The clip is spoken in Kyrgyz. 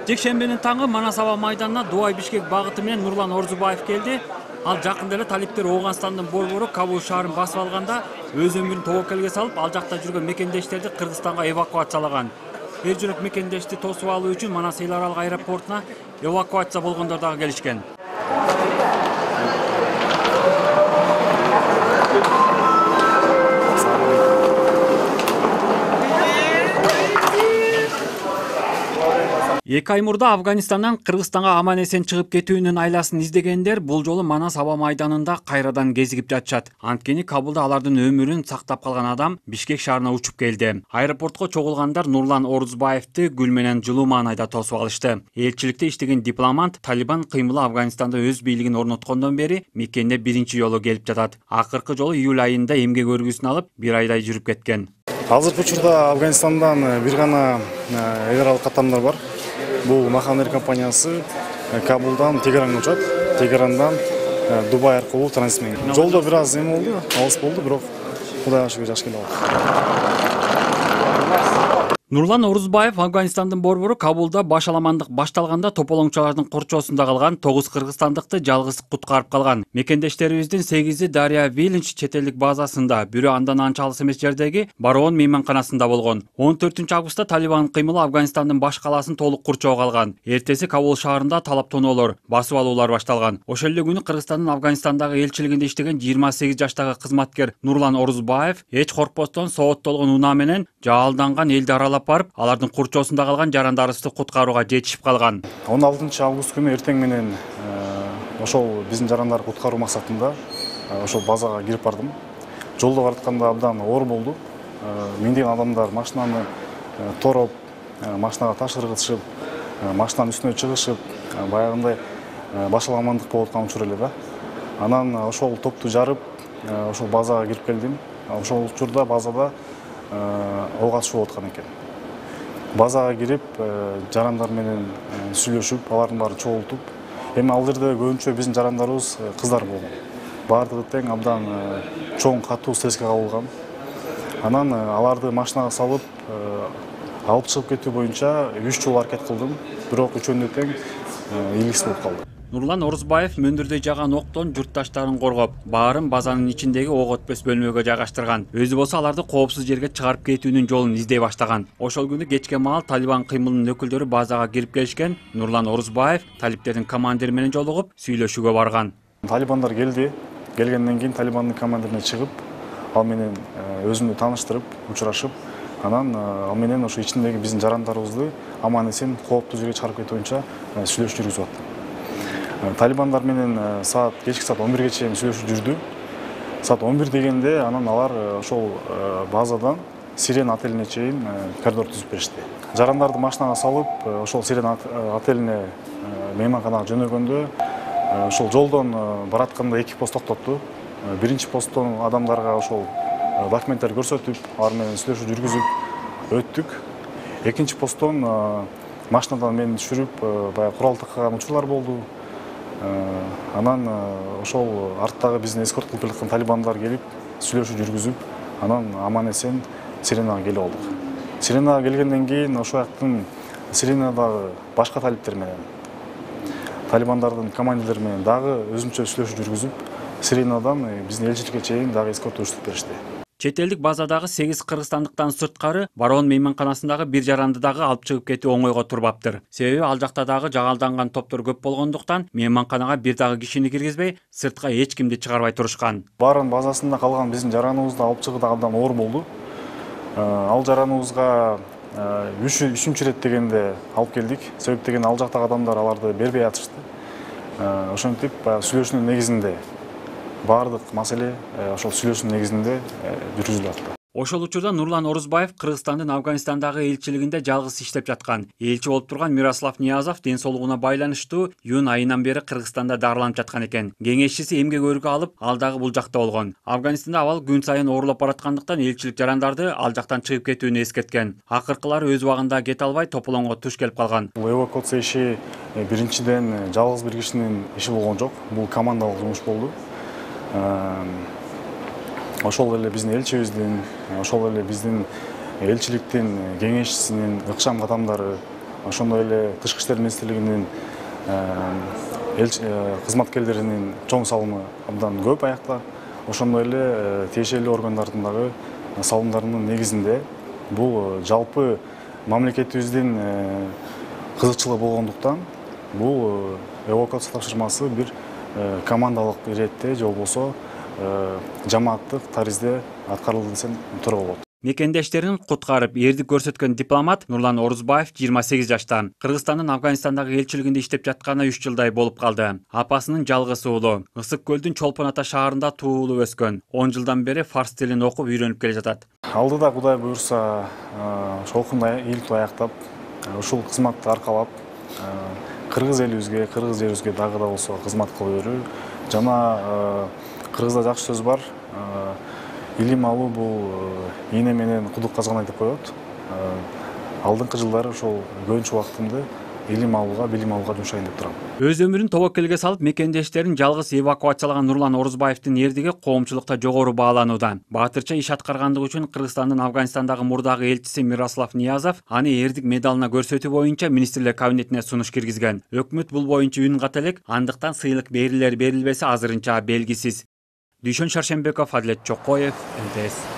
Жекшембинин таңы Манас аба майданына Дубай Бишкек багыты менен Нурлан Орузбаев келди. Ал жакында эле талиптер Ооганстандын борбору Кабул шаарын басып алганда өз өмүрүн тобокелге салып, ал жакта жүргөн мекендештерди Кыргызстанга эвакуациялаган. Эр жүрөк мекендешти тосуп алуу үчүн Манас эл аралык аэропортуна эвакуация болгондор дагы келишкен. Эки ай мурда Афганистандан Кыргызстанга аман эсен чыгып кетүүнүн айласын издегендер бул жолу Манас аба майданында кайрадан кезигип жатышат. Анткени Кабулда алардын өмүрүн сактап калган адам Бишкек шаарына учуп келди. Аэропортко чогулгандар Нурлан Орузбаевди гүл менен жылуу маанайда тосуп алышты. Элчиликте иштеген дипломат Талибан кыймылы Афганистанда өз бийлигин орноткондон бери мекенде биринчи жолу келип жатат. Акыркы жолу июль айында эмгек өргүсүн алып, бир айдай жүрүп кеткен. Азыркы учурда Афганистандан бир гана эл аралык каттамдар бар. Бул Махан Air компаниясы Кабулдан Тегеранга учат. Тегерандан Дубай аркылуу транзитмен. Жолдо бир аз эме болду, алыс болду, бирок Кудайга шүгүр жакшы келип алды. Нурлан Орузбаев Афганистандын борбору Кабулда башаламандык башталганда тополоңчулардын корчоосунда калган 9 кыргызстандыкты жалгыз куткарып калган. Мекендештерибиздин 8и Дарья Виллинч чет элдик базасында, бирөө андан анча алыс эмес жердеги Бароон мейманканасында болгон. 14-августта Талибан кыймылы Афганистандын баш калаасын толук курчоого алган. Эртеси Кабул шаарында талаптоноолор, басып алуулар башталган. Ошол эле күнү Кыргызстандын Афганистандагы элчилигинде иштеген 28 жаштагы кызматкер Нурлан Орузбаев эч коркпостон сооттолгон унаа менен жаалданган элди аралап барып, алардын курчоосунда калган жарандарыбызды куткарууга жетишип калган. 16-август күнү эртең менен ошол биздин жарандарды куткаруу максатында ошол базага кирип бардым. Жолдо баратканда абдан оор болду. Миңдеген адамдар машинаны тороп, машинага таш ыргытышып, машинанын үстүнө чыгышып, баягындай башаламандык болуп аткан учур эле да. Анан ошол топту жарып, ошол базага кирип келдим. Ошол учурда базада ого атышуу болуп аткан экен. Базага кирип, жарандар менен сүйлөшүп, алардын баарын чогултуп, эми ал жерде көбүнчө биздин жарандарыбыз кыздар болгон. Баардыгы тең абдан чоң катуу стресске кабылган. Анан аларды машинага салып, алып чыгып кетүү боюнча 3 жолу аракет кылдым, бирок үчөөнү тең ийгиликсиз болуп калды. Нурлан Орузбаев мөндүрдөй жаган октон журтташтарын коргоп, баарын базанын ичиндеги ок өтпөс бөлмөгө жайгаштырган. Өзү болсо аларды коопсуз жерге чыгарып кетүүнүн жолун издей баштаган. Ошол күнү кечке маал Талибан кыймылынын өкүлдөрү базага кирип келишкен. Нурлан Орузбаев талиптердин командири менен жолугуп, сүйлөшүүгө барган. Талибандар келди. Келгенден кийин Талибандын командирине чыгып, ал менен өзүмдү тааныштырып, учурашып, анан ал менен ошо ичиндеги биздин жарандарыбызды аман эсен кооптуу жерге чыгарып кетүү боюнча сүйлөшүү жүргүзүп аттым. Талибандар менен кечки саат 11ге чейин сүйлөшүү жүрдү. Саат 11 дегенде анан алар ошол базадан Сирена отелине чейин коридор түзүп беришти. Жарандарды машинага салып, ошол Сирена отелине мейманканага жөнөгөндө, ошол жолдон баратканда эки пост токтотту. Биринчи посттон адамдарга ошол документтер көрсөтүп, алар менен сүйлөшүү жүргүзүп өттүк. Экинчи посттон машинадан мени түшүрүп, баягы курал таккан учурлар болду. Анан ошол арттагы биздин эскорт кылып келаткан талибандар келип, сүйлөшүү жүргүзүп, анан аман эсен Сиренага келип алдык. Сиренага келгенден кийин ошол жактын Сиренадагы башка талиптер менен, талибандардын командирлери менен дагы өзүнчө сүйлөшүү жүргүзүп, Сиренадан биздин элчиликке чейин дагы эскорт урушуп беришти. Чет элдик базадагы 8 кыргызстандыктан сырткары Бароон мейманканасындагы бир жаранды дагы алып чыгып кетүү оңойго турбаптыр. Себеби ал жакта дагы жагалданган топтор көп болгондуктан мейманканага бир дагы кишини киргизбей, сыртка эч кимди чыгарбай турушкан. Баарынын базасында калган биздин жараныбызды алып чыгуу да абдан оор болду. Ал жараныбызга 3-үчүнчү ирет дегенде алып келдик. Себеп деген ал жактагы адамдар аларды бербей атышты. Ошентип сүйлөшүүнүн негизинде баардык маселе ошол сүйлөшүүнүн негизинде жүргүзүлүп атты. Ошол учурда Нурлан Орузбаев Кыргызстандын Афганистандагы элчилигинде жалгыз иштеп жаткан. Элчи болуп турган Мирослав Ниязов ден соолугуна байланыштуу июнь айынан бери Кыргызстанда дарыланып жаткан экен. Кеңешчиси эмгек өргө алып, ал дагы бул жакта болгон. Афганистанда абал күн сайын оорлоп бараткандыктан элчилик жарандарды ал жактан чыгып кетүүнү эскерткен. Акыркылары өз убагында кете албай тополоңго туш келип калган. Эвакуация иши биринчиден жалгыз бир кишинин иши болгон жок. Бул командалык жумуш болду. Ошол эле биздин элчибиздин, ошол эле биздин элчиликтин кеңешчисинин ыкчам кадамдары, ошондой эле Тышкы иштер министрлигинин кызматкерлеринин чоң салымы абдан көп аякта. Ошондой эле тиешелүү органдардын дагы салымдарынын негизинде бул жалпы мамлекетибиздин кызыкчылыгы болгондуктан бул эвакуация тапшырмасы бир командалык иретте же болбосо жамааттык таризде аткарылды десем туура болот. Мекендештерин куткарып эрдик көрсөткөн дипломат Нурлан Орузбаев 28 жаштан. Кыргызстандын Афганистандагы элчилигинде иштеп жатканына 3 жылдай болуп калды. Апасынын жалгыз уулу. Ысык көлдүн Чолпон Ата шаарында туулуп өскөн. 10 жылдан бери фарс тилин окуп үйрөнүп келе жатат. Алдыда Кудай буюрса, шолкундай ийгиликтүү аяктап, ушул кызматты аркалап, кыргыз элибизге, кыргыз жерибизге дагы да болсо кызмат кыла берүү. Жана кыргызда жакшы сөз бар. Илим алуу бул ийне менен кудук казгандай деп коет. Алдыңкы жылдары ошол көбүнчө убактымды илим алууга, билим алууга жумшайын деп турам. Өз өмүрүн тобокелге салып, мекендештерин жалгыз эвакуациялаган Нурлан Орузбаевдин эрдиги коомчулукта жогору бааланууда. Баатырча иш аткаргандыгы үчүн Кыргызстандын Афганистандагы мурдагы элчиси Мирослав Ниязов аны эрдик медалына көрсөтүү боюнча министрлер кабинетине сунуш киргизген. Өкмөт бул боюнча үн ката элек, андыктан сыйлык берилер берилбеси азырынча белгисиз. Дүйшөн Шаршембеков, Адилет Чокоев, МТС.